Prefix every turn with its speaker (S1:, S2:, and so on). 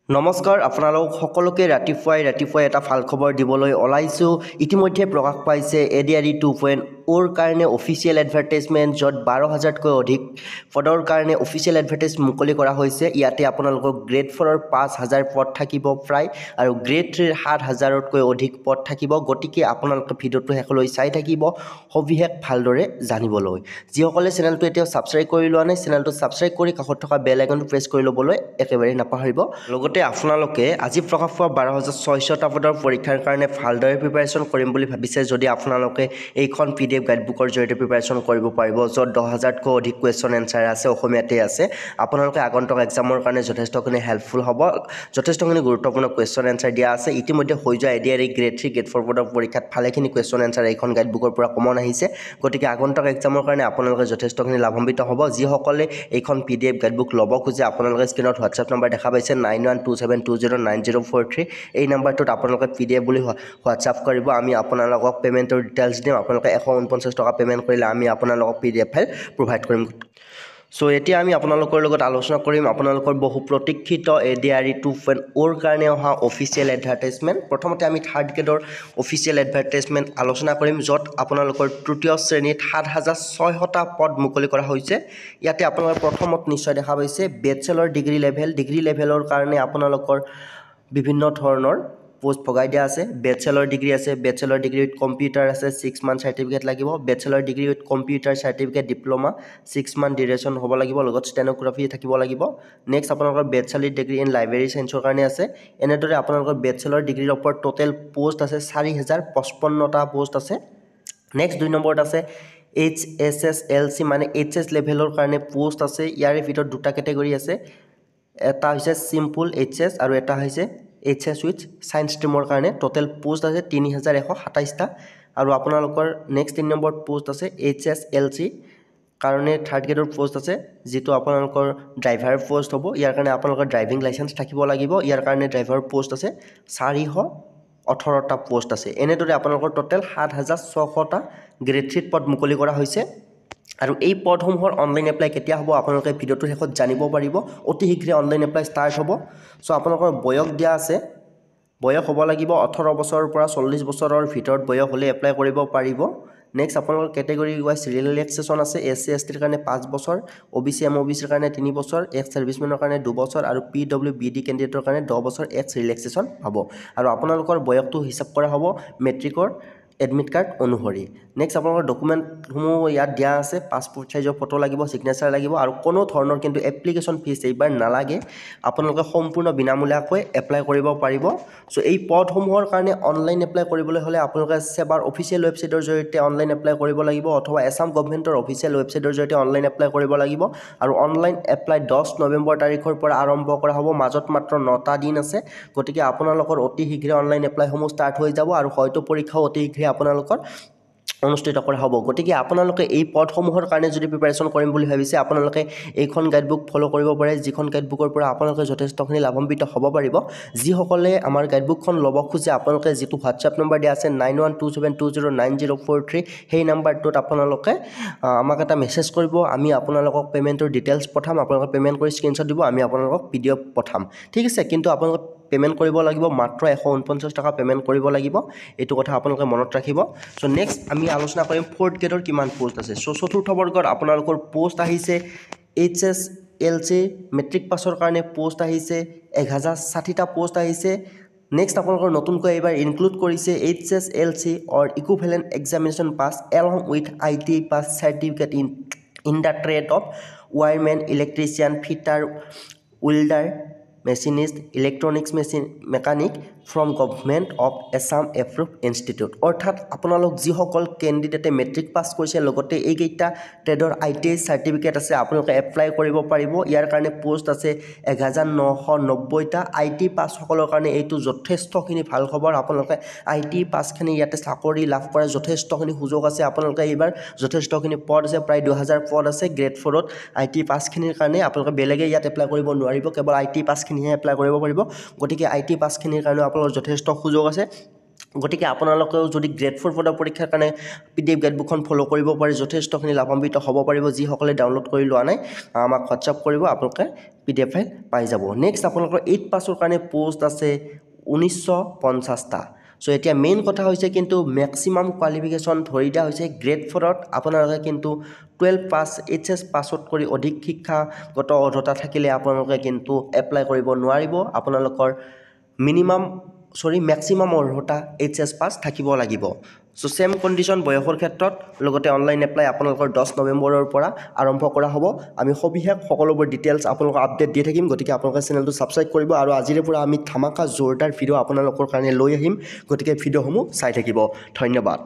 S1: নমস্কাৰ, আপোনালোক সকলোকে ৰাতিপুৱাই ৰাতিপুৱাই এটা ভাল খবৰ দিবলৈ ওলাইছোঁ। ইতিমধ্যে প্ৰকাশ পাইছে এডিআৰই 2.0ৰ কাৰণে অফিচিয়েল এডভাৰটাইজমেণ্ট, য'ত 12 হাজাৰতকৈ অধিক পদৰ কাৰণে অফিচিয়েল এডভাৰটাইজ মুকলি কৰা হৈছে। ইয়াতে আপোনালোকৰ গ্ৰেড 4ৰ 5000 পদ থাকিব প্ৰায় আৰু গ্ৰেড 3ৰ 7000তকৈ অধিক পদ থাকিব। গতিকে আপোনালোকে ভিডিঅ'টো শেষলৈ চাই থাকিব সবিশেষ ভালদৰে জানিবলৈ। যিসকলে চেনেলটো এতিয়াও ছাবস্ক্ৰাইব কৰি লোৱা নাই, চেনেলটো ছাবস্ক্ৰাইব কৰি কাষত থকা বেল আইকনটো প্ৰেছ কৰি ল'বলৈ একেবাৰে নাপাহৰিব। লগতে আপোনালোকে আজি প্ৰকাশ পোৱা 12,600টা পদৰ পৰীক্ষাৰ কাৰণে ভালদৰে প্ৰিপাৰেশ্যন কৰিম বুলি ভাবিছে যদি, আপোনালোকে এইখন পিডিএফ গাইডবুকৰ জৰিয়তে প্ৰিপাৰেশ্যন কৰিব পাৰিব, য'ত 10 হাজাৰতকৈ অধিক কুৱেশ্যন এনচাৰ আছে, অসমীয়াতেই আছে। আপোনালোকে আগন্তুক এক্সামৰ কাৰণে যথেষ্টখিনি হেল্পফুল হ'ব। যথেষ্টখিনি গুৰুত্বপূৰ্ণ কুৱেশ্যন এনচাৰ দিয়া আছে। ইতিমধ্যে হৈ যোৱা এডিআৰই গ্ৰেড 3, গ্ৰেড 4 পদৰ পৰীক্ষাত ভালেখিনি কুৱেশ্যন এনচাৰ এইখন গাইডবুকৰ পৰা কমন আহিছে। গতিকে আগন্তুক এক্সামৰ কাৰণে আপোনালোকে যথেষ্টখিনি লাভান্বিত হ'ব। যিসকলে এইখন পিডিএফ গাইডবুক ল'ব খোজে, আপোনালোকে স্ক্ৰীণত হোৱাটছএপ নম্বৰ দেখা পাইছে, 9127209043। এই নাম্বাৰটোত আপোনালোকে পিডিএফ বুলি হোৱাটছআপ কৰিব। আমি আপোনালোকক পে'মেণ্টৰ ডিটেইলছ দিম। আপোনালোকে 149 টকা পে'মেণ্ট কৰিলে আমি আপোনালোকক পিডিএফ ফাইল প্ৰভাইড কৰিম। চ' এতিয়া আমি আপোনালোকৰ লগত আলোচনা কৰিম আপোনালোকৰ বহু প্ৰতীক্ষিত এডিআৰই 2.0ৰ কাৰণে অহা অফিচিয়েল এডভাৰটাইজমেণ্ট। প্ৰথমতে আমি থাৰ্ড গ্ৰেডৰ অফিচিয়েল এডভাৰটাইজমেণ্ট আলোচনা কৰিম, য'ত আপোনালোকৰ তৃতীয় শ্ৰেণীত 7600টা পদ মুকলি কৰা হৈছে। ইয়াতে আপোনালোকে প্ৰথমত নিশ্চয় দেখা পাইছে বেচেলৰ ডিগ্ৰী লেভেল। ডিগ্ৰী লেভেলৰ কাৰণে আপোনালোকৰ বিভিন্ন ধৰণৰ পষ্ট ভগাই দিয়া আছে। বেচেলৰ ডিগ্ৰী আছে, বেচেলৰ ডিগ্ৰী উইথ কম্পিউটাৰ আছে, 6 মান্থ চাৰ্টিফিকেট লাগিব। Bachelor degree with computer certificate, diploma, 6 month duration হ'ব লাগিব, লগত ষ্টেন'গ্ৰাফি থাকিব লাগিব। নেক্সট আপোনালোকৰ বেচেলৰ ডিগ্ৰী ইন লাইব্ৰেৰী চায়েন্সৰ কাৰণে আছে। এনেদৰে আপোনালোকৰ বেচেলৰ ডিগ্ৰীৰ ওপৰত টোটেল পষ্ট আছে 4055টা পষ্ট আছে। নেক্সট দুই নম্বৰত আছে এইচএছএছএলচি, মানে এইচএছ লেভেলৰ কাৰণে পষ্ট আছে। ইয়াৰে ভিতৰত দুটা কেটেগৰী আছে, এটা হৈছে চিম্পুল এইচএছ আৰু এটা হৈছে এইচএছ উইথ ছায়েন্স ষ্ট্ৰীমৰ কাৰণে। টোটেল পষ্ট আছে 3127টা। আৰু আপোনালোকৰ নেক্সট তিনি নম্বৰত পষ্ট আছে এইচএছএলচি কাৰণে থাৰ্ড গ্ৰেডৰ পষ্ট আছে, যিটো আপোনালোকৰ ড্ৰাইভাৰ পষ্ট হ'ব। ইয়াৰ কাৰণে আপোনালোকৰ ড্ৰাইভিং লাইচেঞ্চ থাকিব লাগিব। ইয়াৰ কাৰণে ড্ৰাইভাৰ পষ্ট আছে 418টা পষ্ট আছে। এনেদৰে আপোনালোকৰ টোটেল 7600টা গ্ৰেড 3ত পদ মুকলি কৰা হৈছে। আৰু এই পদসমূহৰ অনলাইন এপ্লাই কেতিয়া হ'ব, আপোনালোকে ভিডিঅ'টোৰ শেষত জানিব পাৰিব। অতি শীঘ্ৰে অনলাইন এপ্লাই ষ্টাৰ্ট হ'ব। চ' আপোনালোকৰ বয়স দিয়া আছে। বয়স হ'ব লাগিব 18 বছৰৰ পৰা 40 বছৰৰ ভিতৰত বয়স হ'লে এপ্লাই কৰিব পাৰিব। নেক্সট আপোনালোকৰ কেটেগৰী ৱাইজ ৰিলেক্সেশ্যন আছে। এছ চি, এছ টিৰ কাৰণে 5 বছৰ, অ' বি চি, এম অ' বি চিৰ কাৰণে 3 বছৰ, এক্স ছাৰ্ভিচমেনৰ কাৰণে 2 বছৰ আৰু পিডব্লিউবিডি কেণ্ডিডেটৰ কাৰণে 10 বছৰ এক্স ৰিলেক্সেশ্যন পাব। আৰু আপোনালোকৰ বয়সটো হিচাপ কৰা হ'ব মেট্ৰিকৰ এডমিট কাৰ্ড অনুসৰি। নেক্সট আপোনালোকৰ ডকুমেণ্টসমূহ ইয়াত দিয়া আছে। পাছপৰ্ট চাইজৰ ফটো লাগিব, ছিগনেচাৰ লাগিব আৰু কোনো ধৰণৰ কিন্তু এপ্লিকেশ্যন ফিজ এইবাৰ নালাগে। আপোনালোকে সম্পূৰ্ণ বিনামূলীয়াকৈ এপ্লাই কৰিব পাৰিব। চ' এই পদসমূহৰ কাৰণে অনলাইন এপ্লাই কৰিবলৈ হ'লে আপোনালোকে ছেবাৰ অফিচিয়েল ৱেবছাইটৰ জৰিয়তে অনলাইন এপ্লাই কৰিব লাগিব অথবা এছাম গভমেণ্টৰ অফিচিয়েল ৱেবছাইটৰ জৰিয়তে অনলাইন এপ্লাই কৰিব লাগিব। আৰু অনলাইন এপ্লাই 10 নৱেম্বৰ তাৰিখৰ পৰা আৰম্ভ কৰা হ'ব। মাজত মাত্ৰ নটা দিন আছে। গতিকে আপোনালোকৰ অতি শীঘ্ৰে অনলাইন এপ্লাইসমূহ ষ্টাৰ্ট হৈ যাব আৰু হয়তো পৰীক্ষাও অতি শীঘ্ৰে আপোনালোকৰ অনুষ্ঠিত কৰা হ'ব। গতিকে আপোনালোকে এই পদসমূহৰ কাৰণে যদি প্ৰিপাৰেশ্যন কৰিম বুলি ভাবিছে, আপোনালোকে এইখন গাইডবুক ফ'ল' কৰিব পাৰে, যিখন গাইডবুকৰ পৰা আপোনালোকে যথেষ্টখিনি লাভান্বিত হ'ব পাৰিব। যিসকলে আমাৰ গাইডবুকখন ল'ব খোজে, আপোনালোকে যিটো হোৱাটছএপ নম্বৰ দিয়া আছে, 9127209043, সেই নাম্বাৰটোত আপোনালোকে আমাক এটা মেছেজ কৰিব। আমি আপোনালোকক পে'মেণ্টৰ ডিটেইলছ পঠাম। আপোনালোকে পে'মেণ্ট কৰি স্ক্ৰীণশ্বট দিব, আমি আপোনালোকক পিডিএফ পঠাম। ঠিক আছে, কিন্তু আপোনালোকে পে'মেণ্ট কৰিব লাগিব, মাত্ৰ 149 টকা পে'মেণ্ট কৰিব লাগিব। এইটো কথা আপোনালোকে মনত ৰাখিব। চ' নেক্সট আমি আলোচনা কৰিম ফ'ৰ্থ গ্ৰেডৰ কিমান পষ্ট আছে। চ' চতুৰ্থ বৰ্গত আপোনালোকৰ পষ্ট আহিছে এইচএছএলচি মেট্ৰিক পাছৰ কাৰণে পষ্ট আহিছে 1060টা পষ্ট আহিছে। নেক্সট আপোনালোকৰ নতুনকৈ এইবাৰ ইনক্লুড কৰিছে HSLC or equivalent examination pass along with ITI pass certificate in the trade of wireman, electrician, fitter, welder, machinist, electronics machine mechanic from Government of Assam approve institute। অৰ্থাৎ আপোনালোক যিসকল কেণ্ডিডেটে matric pass কৰিছে, লগতে এইকেইটা ট্ৰেডৰ ITI certificate আছে, আপোনালোকে apply কৰিব পাৰিব। ইয়াৰ কাৰণে পষ্ট আছে 1990টা। আইটিআই পাছসকলৰ কাৰণে এইটো যথেষ্টখিনি ভাল খবৰ। আপোনালোকে আইটিআই পাছখিনি ইয়াতে চাকৰি লাভ কৰাৰ যথেষ্টখিনি সুযোগ আছে। আপোনালোকে এইবাৰ যথেষ্টখিনি পদ আছে, প্ৰায় 2000 পদ আছে গ্ৰেড 4ত আইটিআই পাছখিনিৰ কাৰণে। আপোনালোকে বেলেগে ইয়াত এপ্লাই কৰিব নোৱাৰিব, কেৱল আইটিআই পাছখিনিহে এপ্লাই কৰিব পাৰিব। গতিকে আইটিআই পাছখিনিৰ কাৰণেও আপোনালোকৰ যথেষ্ট সুযোগ আছে। গতিকে আপোনালোকেও যদি গ্ৰেড ফ'ৰ পদৰ পৰীক্ষাৰ কাৰণে পিডিএফ গাইডবুকখন ফ'ল' কৰিব পাৰে, যথেষ্টখিনি লাভান্বিত হ'ব পাৰিব। যিসকলে ডাউনলোড কৰি লোৱা নাই, আমাক হোৱাটছআপ কৰিব, আপোনালোকে পিডিএফ ফাইল পাই যাব। নেক্সট আপোনালোকৰ এইট পাছৰ কাৰণে প'ষ্ট আছে 1950টা। চ' এতিয়া মেইন কথা হৈছে কিন্তু মেক্সিমাম কোৱালিফিকেশ্যন ধৰি দিয়া হৈছে গ্ৰেড ফ'ৰত আপোনালোকে কিন্তু 12 পাছ, এইচএছ পাছত কৰি অধিক শিক্ষাগত অৰ্হতা থাকিলে আপোনালোকে কিন্তু এপ্লাই কৰিব নোৱাৰিব। আপোনালোকৰ মিনিমাম, চৰি, মেক্সিমাম অৰ্হতা এইচএছ পাছ থাকিব লাগিব। চ' ছেম কণ্ডিশ্যন বয়সৰ ক্ষেত্ৰত। লগতে অনলাইন এপ্লাই আপোনালোকৰ 10 নৱেম্বৰৰ পৰা আৰম্ভ কৰা হ'ব। আমি সবিশেষ সকলোবোৰ ডিটেইলছ আপোনালোকক আপডেট দি থাকিম। গতিকে আপোনালোকে চেনেলটো ছাবস্ক্ৰাইব কৰিব আৰু আজিৰে পৰা আমি ধামাকা জোৰদাৰ ভিডিঅ' আপোনালোকৰ কাৰণে লৈ আহিম। গতিকে ভিডিঅ'সমূহ চাই থাকিব। ধন্যবাদ।